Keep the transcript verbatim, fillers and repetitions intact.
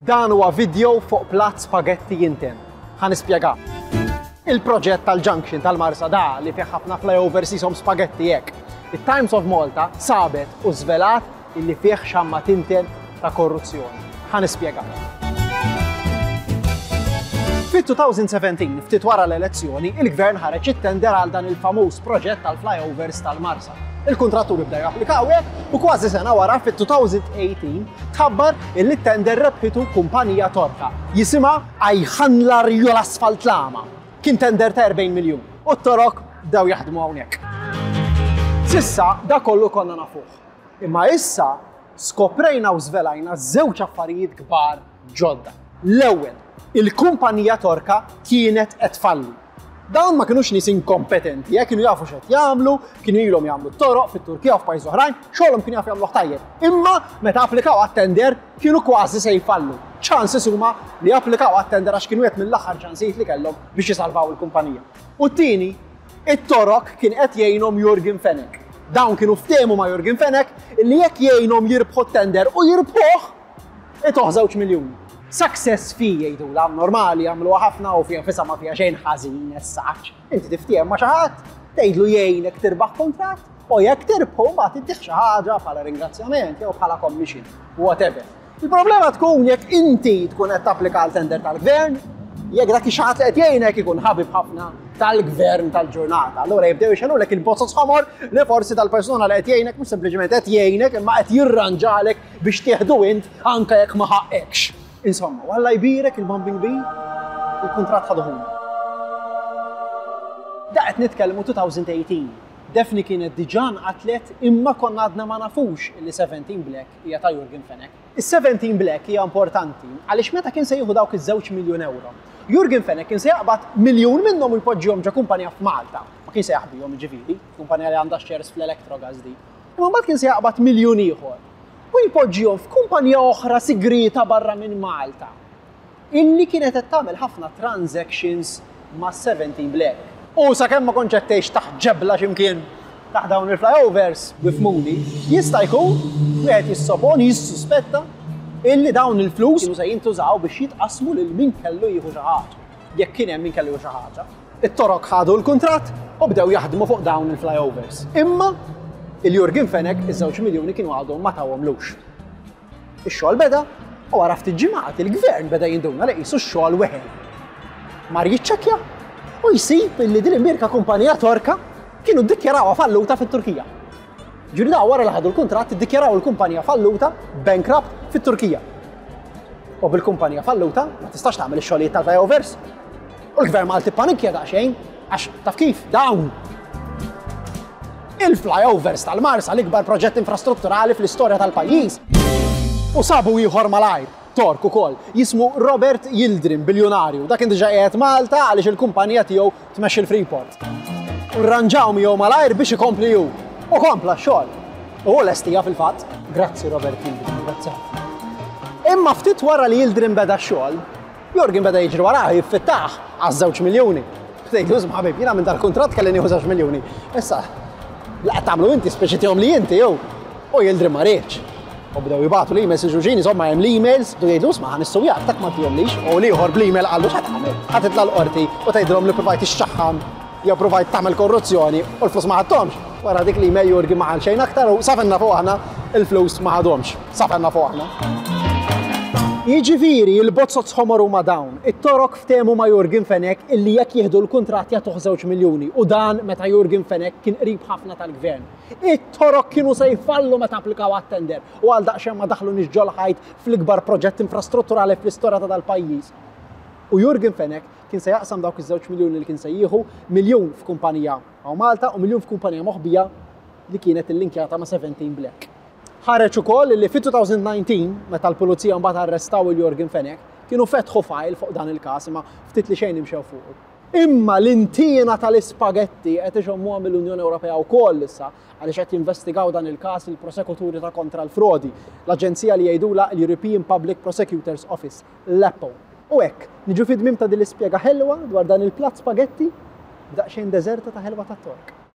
Dan huwa video fuq platt spagetti jinten. Ħa nispjega. Il-proġett tal-Junction tal-Marsa da li fih ħafna flyovers jisimhom spagetti hekk. Il-Times of Malta sabet u żvelat illi fih xamma tinten ta' korruzzjoni. Ħa nispjega. Fit-elfejn u sbatax, ftit wara l-elezzjoni, il-gvern ħareġ it-tender għal dan il-famuż proġett tal-flyovers tal-Marsa. Il-kontratturi bdew japplikaw hekk u kważi sena wara, fit-elfejn u tmintax, tħabbar illi t-tender rebħitu kumpanija Torka jisimha Ayhanlar Yol Asfaltlama. Kien tender ta' erbgħin miljun. U t-Torok bdew jaħdmu hawnhekk. S'issa da kollu konna nafuh. Imma issa skoprejna u żvelajna żewġ affarijiet kbar ġodda. L-ewwel, il-kumpanija Torka kienet qed tfalli. Dawn ma kienux nies inkompetenti, eh, kienu jafu x'qed jagħmlu, kienu ilhom jagħmlu toroq fit-Turkija u f'pajjiż oħrajn, xogħolhom kienu jafu jagħmluh tajjeb. Imma meta applikaw għat-tender kienu kważi se jfallu. Chances huma li applikaw għat-tender għax kienu qed mill-aħħar ċansijiet li kellhom biex jisalvaw il-kumpanija. U t-tieni, it-Torok kien qed jgħinhom Yorgen Fenech. Dawn kienu ftehmu ma' Yorgen Fenech illi jekk jgħinhom jirbħu t-tender u jirbħuh, ituh żewġ miljuni. Success fee jgħidu la, normali jagħmluha ħafna u fiha nfisha ma fiha xejn ħażin as such. Inti tiftiehem ma' xi ħadd, tgħidlu jgħinek tirbaħ kontratt u jekk tirbħu mbagħad ittih xi ħaġa bħala ringrazzjament jew bħala commission, whatever. Il-problema tkun jekk inti tkun qed tapplika għal tender tal-gvern, jekk dak ix-xi ħadd li qed jgħinek ikun ħabib ħafna tal-gvern tal-ġurnata. Allura jibdew jixegħlulek il-bozoz ħomor li forsi tal-persuna li qed jgħinek mhux sempliċement qed jgħinek imma qed jirranġalek biex tieħdu int anke jekk ma ħaqqekx. Insomma, Alla jbierek il-Bombing Bee, il-kuntratt ħaduhom. Da qed nitkellmu elfejn u tmintax. Daphne kienet diġà nqatlet imma konna għadna ma nafux illi seventeen Black hija ta' Yorgen Fenech. Is-seventeen Black hija importanti għaliex meta kien se jieħu dawk iż-żewġ miljun euro, Yorgen Fenech kien se jaqbad miljun minnhom u jpoġġihom ġo kumpanija f'Malta. Ma kien se jaħbihom ġifieri, kumpanija li għandha shares fl-Electrogas di. Imma mbagħad kien se jaqbad miljun ieħor u jpoġġihom f'kumpanija oħra sigrita barra minn Malta, illi kienet qed tagħmel ħafna transactions ma' seventeen Black. U sakemm ma kontx qed tgħix taħt ġebla x'imkien taħt dawn il-flyovers bifmuni, jista' jkun wieħed jissoponi, jissuspetta illi dawn il-flus kienu se jintużaw biex jitqasmu lil min kellu jieħu xi ħaġa. Jekk kien hemm min kellu jieħu xi ħaġa. It-Torok ħadu l-kuntratt u bdew jaħdmu fuq dawn il-flyovers. Imma il-Yorgen Fenech iż-żewġ miljuni kienu għadhom ma tawhomlux. Ix-xogħol beda u wara ftit ġimgħat il-gvern beda jinduna li qisu x-xogħol weħel. Mar jiċċekkja u jsib illi din il-mirka kumpanija Torka kienu ddikjarawha falluta fit-Turkija. Ġuri da wara li ħadu l-kuntratt iddikjaraw il-kumpanija falluta, bankrupt, fit-Turkija. U bil-kumpanija falluta ma tistax tagħmel ix-xogħlijiet tal-flyovers. U l-gvern Malti panikja daqsxejn għax taf kif dawn il-flyovers tal-Marsa, l-ikbar proġett infrastrutturali fl-istorja tal-pajjiż. U sabu ieħor malajr, Tork ukoll, jismu Robert Yildirim, biljonarju. Dak kien diġà qiegħed Malta għaliex il-kumpanija tiegħu tmexxi l-Freeport. U rranġaw miegħu malajr biex ikompli hu. U kompla x-xogħol. U lestija fil-fatt. Grazzi, Robert Yildirim, grazzi ħafna. Imma ftit wara li Yildirim beda x-xogħol, Yorgen beda jiġri warah jiffittah għaż-żewġ miljuni. Tgħidlu, "Isma' ħabib, jiena minn dal-kuntratt kelli nieħu żewġ miljuni. Issa, la tagħmlu inti speċi tihom li inti jew." U Yildirim ma riedx. U bdew jibagħtu l-emails il-ġuġini, insomma hemm l-emails, bdew jgħidu, "Isma', ħa nissujak, tak ma tihomlix." U l-ieħor bl-email qallu, "X'ħa tagħmel? Ħa titla' l-qorti u tgħidilhom li provajt ixxaħħam jew provajt tagħmel korruzzjoni u l-flus ma ħadthomx?" Wara dik l-email Yorgen ma qal xejn aktar u sa fejn nafu aħna il-flus ma ħadhomx. Sa fejn nafu aħna. Jiġifieri il-bozoz ħomor huma dawn. It-Torok ftehmu ma' Yorgen Fenech illi jekk jieħdu l-kuntratt jagħtuh żewġ miljuni u dan meta Yorgen Fenech kien qrib ħafna tal-gvern. It-Torok kienu se jfallu meta applikaw għat-tender u għal daqsxejn ma daħlu ġol-ħajt fl-ikbar proġett infrastrutturali fl-istorja ta' dal-pajjiż. U Yorgen Fenech kien se jaqsam dawk iż-żewġ miljuni li kien se jieħu, miljun f'kumpanija hawn Malta u miljun f'kumpanija moħbija li kienet illinkjata ma' seventeen Black. Ħareġ ukoll li fit-elfejn u dsatax, meta l-pulizija mbagħad arrestaw il-Yorgen Fenech, kienu fetħu file fuq dan il-każ imma ftit li xejn imxew fuq. Imma l-intina tal-ispagetti qed ixommuha mill-Unjoni Ewropea wkoll issa għaliex qed jinvestigaw dan il-każ il-prosekuturi ta' kontra l-frodi, l-aġenzija li jgħidula l-European Public Prosecutors Office, l-EPPO. U hekk, niġu fi tmiem ta' din l-ispjega ħelwa dwar dan il-platt spagetti b'daqsxejn deżerta ta' ħelwa tat-Tork.